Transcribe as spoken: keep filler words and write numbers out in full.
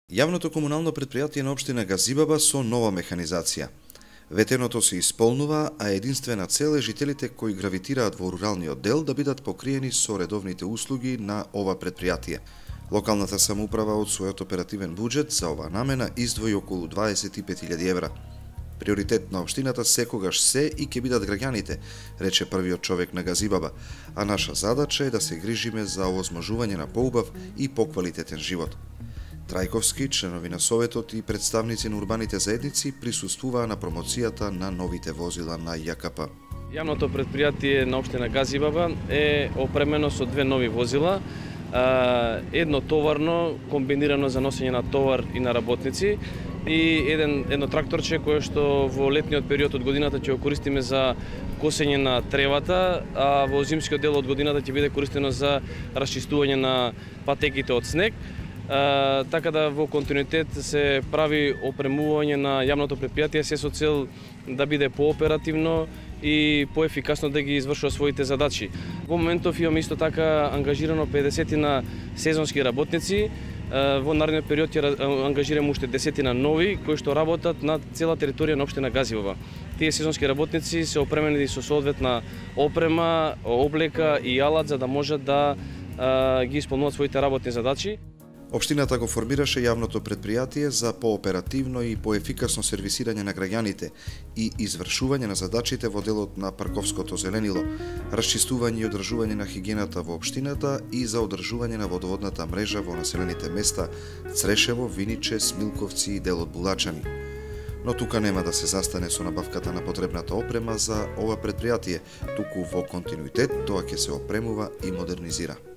Јавното комунално претпријатие на општина Газибаба со нова механизација. Ветеното се исполнува, а единствена цел е жителите кои гравитираат во руралниот дел да бидат покриени со редовните услуги на ова претпријатие. Локалната самоуправа од својот оперативен буџет за оваа намена издвои околу дваесет и пет илјади евра. Приоритет на општината секогаш се и ќе бидат граѓаните, рече првиот човек на Газибаба, а наша задача е да се грижиме за овозможување на поубав и поквалитетен живот. Трајковски, членови на Советот и представници на урбаните заедници присуствуваа на промоцијата на новите возила на Ја Ка П. Јавното претпријатие на општина Газибаба е опремено со две нови возила, едно товарно комбинирано за носење на товар и на работници и еден едно тракторче кое што во летниот период од годината ќе го користиме за косење на тревата, а во зимскиот дел од годината ќе биде користено за расчистување на патеките од снег. Uh, така да во континуитет се прави опремување на јавното претпријатие се со цел да биде пооперативно и поефикасно да ги извршува своите задачи. Во моментов имаме исто така ангажирано педесет на сезонски работници. Uh, во наредниот период ќе ангажираме уште десет на нови кои што работат на цела територија на општина Газибаба. Тие сезонски работници се опремени со соодветна опрема, облека и алат за да можат да uh, ги исполнуваат своите работни задачи. Општината го формираше јавното претпријатие за пооперативно и поефикасно сервисирање на граѓаните и извршување на задачите во делот на парковското зеленило, расчистување и одржување на хигиената во општината и за одржување на водоводната мрежа во населените места Црешево, Виниче, Смилковци и делот Булачани. Но тука нема да се застане со набавката на потребната опрема за ова претпријатие, туку во континуитет тоа ќе се опремува и модернизира.